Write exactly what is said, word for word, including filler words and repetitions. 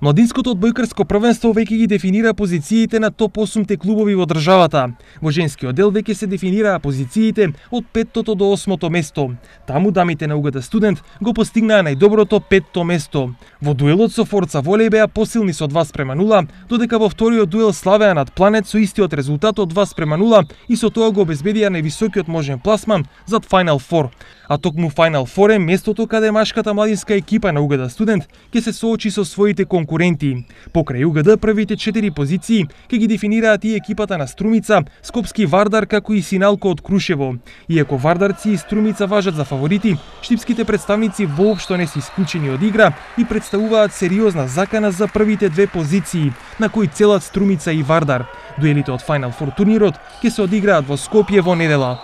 Младинското одбојкарско првенство веќе ги дефинира позициите на топ осумте клубови во државата. Во женскиот дел веќе се дефинираа позициите од петтото до осмото место. Таму дамите на УГД Студент го постигнаа најдоброто петто место. Во дуелот со Форца Волеј беа посилни со два спрема нула, додека во вториот дуел славеа над Планет со истиот резултат од два спрема нула и со тоа го обезбедија највисокиот можен пласман зад Final Four. А токму Final Four е местото каде машката младинска екипа на УГД Студент ќе се соочи со своите конкуренти. Покрај УГД првите четири позиции ќе ги дефинираат и екипата на Струмица, Скопски Вардар како и Синалко од Крушево. Иако Вардарци и Струмица важат за фаворити, штипските представници воопшто не се исклучени од игра и представуваат сериозна закана за првите две позиции, на кои целат Струмица и Вардар. Дуелите од Final Four турнирот ќе се одиграат во Скопје во недела.